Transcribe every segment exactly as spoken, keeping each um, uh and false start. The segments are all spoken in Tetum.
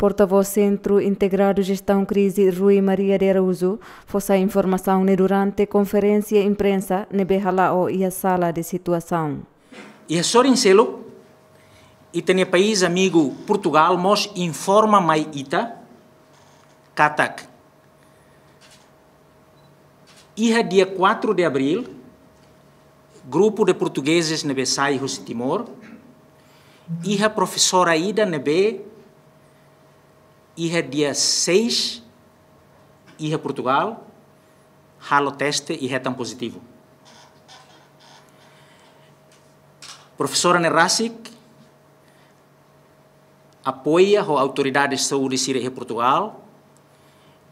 Portavós Sentru Integradu Jestaun Krize, Rui Maria de Araújo, fó sai informasaun ne'e durante konferénsia imprensa ne'ebé hala'o iha sala de situasaun. Iha sorin seluk, ita-nia país amigu Portugal mós informa mai ita katak iha dia quatro de abril, grupu de portugueses ne'ebé sai husi Timor, iha profesora ida ne'ebé iha dia seis iha Portugal, halo teste i hetan pozitivu. Profesora ne'e rasik apoia ho autoridades saúde sira iha Portugal,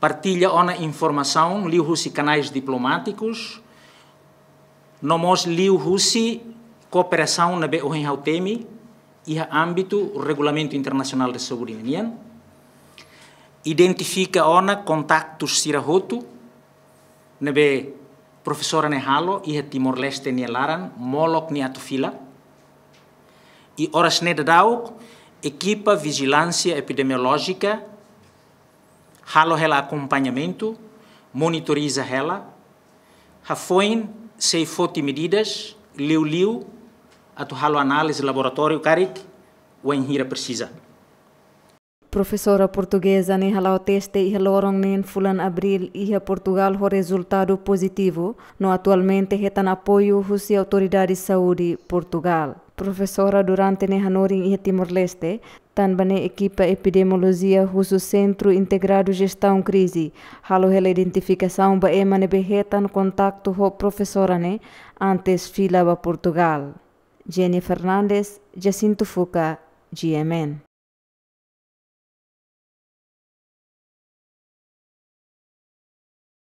partilla ona informasaun liuhusi kanais diplomátikus, no mós liuhusi kooperasaun ne'ebé ohin ha'u temi iha ámbitu Regulamentu Internasionál de Saúde ninian. Identifika ona kontaktus sira hotu ne'ebé profesora ne'e halo iha Timor-Leste nia laran molok nia atu fila. I oras ne'e daudauk, ekipa vijilánsia epidemiolójika halo hela akompañamentu, monitoriza hela, hafoin sei foti medidas liuliu atu halo análize laboratóriu karik wainhira presiza. Profesora portugeza ne'e hala'o teste iha loron neen fulan Abril iha Portugal ho rezultadu pozitivu, no atualmente hetan apoiu husi autoridade saúde Portugal. Profesora durante ne'e hanorin iha Timor-Leste, tanba ne'e ekipa epidemiolojia husi Sentru Integradu Jestaun Krize halo hela identifikasaun ba ema ne'ebé hetan kontaktu ho profesora ne'e antes fila ba Portugal. Jenny Fernandes, Jacinto Fuca, G M N.